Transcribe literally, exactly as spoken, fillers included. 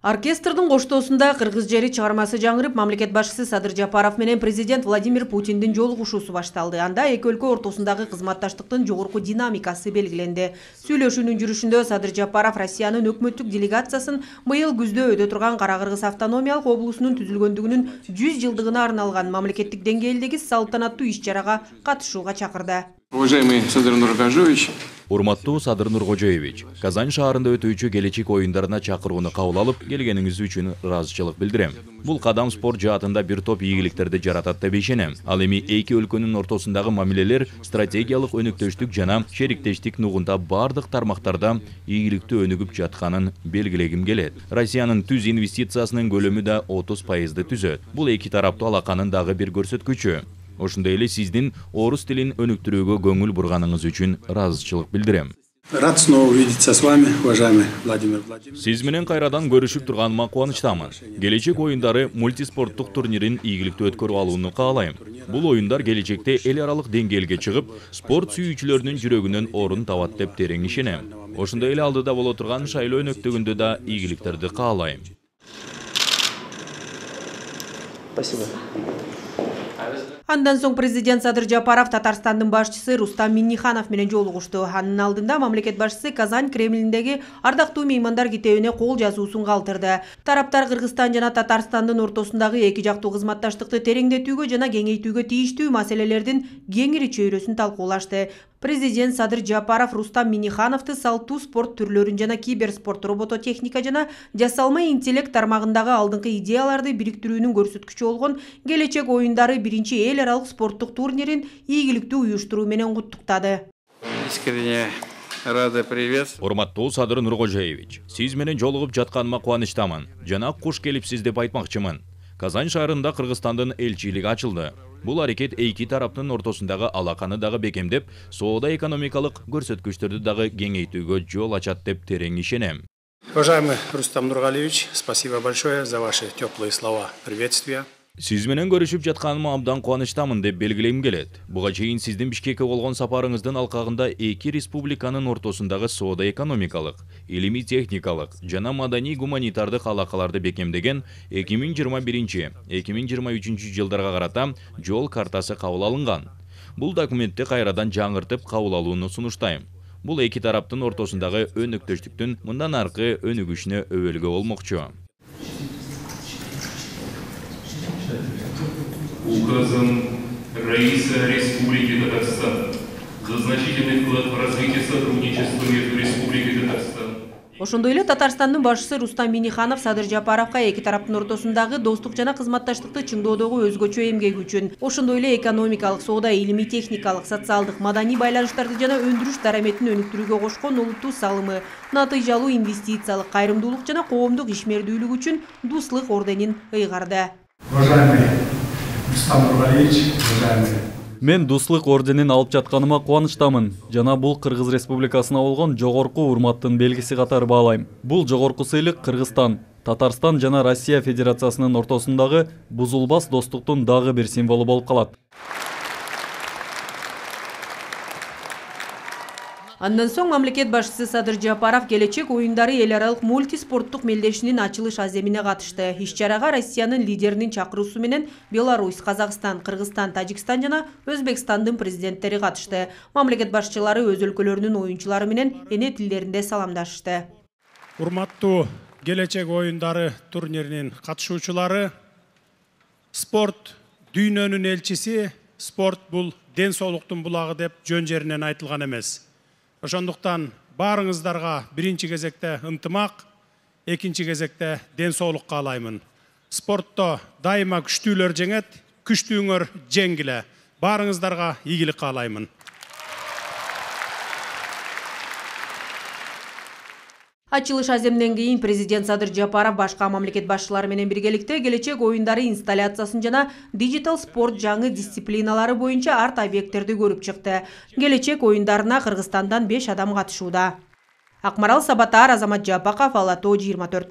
Оркестрдин коштоосунда кыргыз жери чыгармасы жаңырып, мамлекет башчысы Садыр Жапаров менен президент Владимир Путиндин жолугушуусу башталды. Анда эки өлкө ортосундагы кызматташтыктын жогорку динамикасы белгиленди. Сүйлөшүүнүн жүрүшүндө Садыр Жапаров Россиянын өкмөттүк делегациясын быйыл күздө өтө турган Кара-Кыргыз автономиялык облусунун түзүлгөндүгүнүн жүз жылдыгына арналган мамлекеттик деңгээлдеги салтанаттуу иш-чарага катышууга чакырды. Уважаемый Садыр Нуркожоевич, урматтуу Садыр Нуркожоевич, Казань шаарында өтүүчү келечек оюндарына чакырууну кабыл алып, келгениңиз үчүн ыраазычылык билдирем. Бул кадам спорт жаатында бир топ ийгиликтерди жаратат деп ишенем. Ал эми эки өлкөнүн ортосундагы мамилелер стратегиялык өнөктөштүк жана шериктештик нугунда бардык тармактарда ийгиликтүү өнүгүп жатканын белгилегим келет. Россиянын түз инвестициясынын көлөмү да отуз пайызды түзөт. Бул эки тараптуу алаканын дагы бир көрсөткүчү. Ошондой эле сиздин орус тилин өнүктүрүүгө көңүл бурганыңыз үчүн ыраазычылык билдирем. Рад снова увидеться с вами, уважаемый Владимир Владимирович. Сиз менен кайрадан көрүшүп турганыма кубанычтамын. Келечек оюндары мультиспорттук турнирин ийгиликтүү өткөрүп алууну каалайм. Бул оюндар келечекте эл аралык деңгээлге чыгып, спорт сүйүүчүлөрдүн жүрөгүнөн орун табат деп терең ишенем. Ошондой эле алдыда боло турган шайлоо өнөктөгүндө да ийгиликтерди каалайм. Спасибо. Андан соң президент Садыр Жапаров Татарстандын башчысы Рустам Минниханов менен жолугушту. Анын алдында мамлекет башчысы Казань Кремлиндеги ардактуу меймандар китебине кол жазуусун калтырды. Тараптар Кыргызстан жана Татарстандын ортосундагы эки жактуу кызматташтыкты тереңдетүүгө жана кеңейтүүгө тийиштүү маселелердин кеңири чөйрөсүн талкуулашты. Президент Садыр Жапаров Рустам Миннихановду салттуу спорт түрлөрүн жана киберспорт, робототехника жана жасалма интеллект тармагындагы алдыңкы идеяларды бириктирүүнүн көрсөткүчү болгон келечек оюндары биринчи эл аралык спорттук турнирин ийгиликтүү уюштуруу менен куттуктады. искренне рада приветствовать. Урматтуу Садыр Нуркожоевич, сиз менен жолугуп жатканыма кубанычтамын. Жана куш келипсиз деп айтмакчымын. Казань шаарында Кыргызстандын элчилиги ачылды. Бул аракет эки тараптын ортосундагы алаканы дагы бекемдеп, соода-экономикалык көрсөткүчтөрдү дагы кеңейтүүгө жол ачат деп терең ишенем. Уважаемый Рустам Нургалиевич, спасибо большое за ваши теплые слова приветствия. Сиз менен көрүшүп жатканыма абдан кубанычтамын деп белгилегим келет. Буга чейин сиздин Бишкекке болгон сапарыңыздын алкагында эки республиканын ортосундагы соода-экономикалык, илимий-техникалык жана маданий-гуманитардык алакаларды бекемдеген эки миң жыйырма биринчи — эки миң жыйырма үчүнчү жылдарга карата жол картасы кабыл алынган. Бул документти кайрадан жаңыртып кабыл алууну сунуштайм. Бул эки тараптын ортосундагы өнөктөштүктүн мындан аркы өнүгүшүнө өбөлгө болмокчу. Указом Раиса Республики Татарстан за значительный вклад в развитие сотрудничества между Республикой Татарстан. Ошондой эле Татарстандын башчысы Рустам Минниханов Садыр Жапаровго эки тараптын ортосундагы достук жана кызматташтыкты чыңдоодогу өзгөчө эмгеги үчүн, ошондой эле экономикалык, соода, илимий, техникалык, социалдык, маданий байланыштарды жана өндүрүш дараметин өнүктүрүүгө кошкон олуттуу салымы, натыйжалуу инвестициялык, кайрымдуулук жана коомдук ишмердүүлүк үчүн Дуслык орденин ыйгарды. Мен Дуслык орденин алып жатканыма кубанычтамын жана бул Кыргыз Республикасына болгон жогорку урматтын белгиси катары баалайм. Бул жогорку сыйлык Кыргызстан, Татарстан жана Россия Федерациясынын ортосундагы бузулбас достуктун дагы бир символу болуп калат. Андан соң мамлекет башчысы Садыр Жапаров келечек оюндары эл аралык мультиспорттук мелдешинин ачылыш аземине катышты. Иш-чарага Россиянын лидеринин чакыруусу менен Беларусь, Казакстан, Кыргызстан, Тажикстан жана Өзбекстандын президенттери катышты. Мамлекет башчылары өз өлкөлөрүнүн оюнчулары менен эне тилдеринде саламдашты. Урматтуу келечек оюндары турниринин катышуучулары, спорт дүйнөнүн элчиси, спорт бул ден соолуктун булагы деп жөн жеринен айтылган эмес. Ошондуктан баарыңыздарга биринчи кезекте ынтымак, экинчи кезекте ден соолук каалаймын. Спортто дайыма күчтүүлөр жеңет, күчтүүңөр жеңгиле. Баарыңыздарга ийгилик каалаймын. Ачылыш аземден кийин президент Садыр Жапаров башка мамлекет башчылары менен биргеликте келечек оюндары инсталляциясын жана диджитал спорт жаңы дисциплиналары боюнча арт объекттерди көрүп чыкты. Келечек оюндарына Кыргызстандан беш адам катышууда. Акмарал Сабатар, Азамат Жапаков, Ала Тоо жыйырма төрт.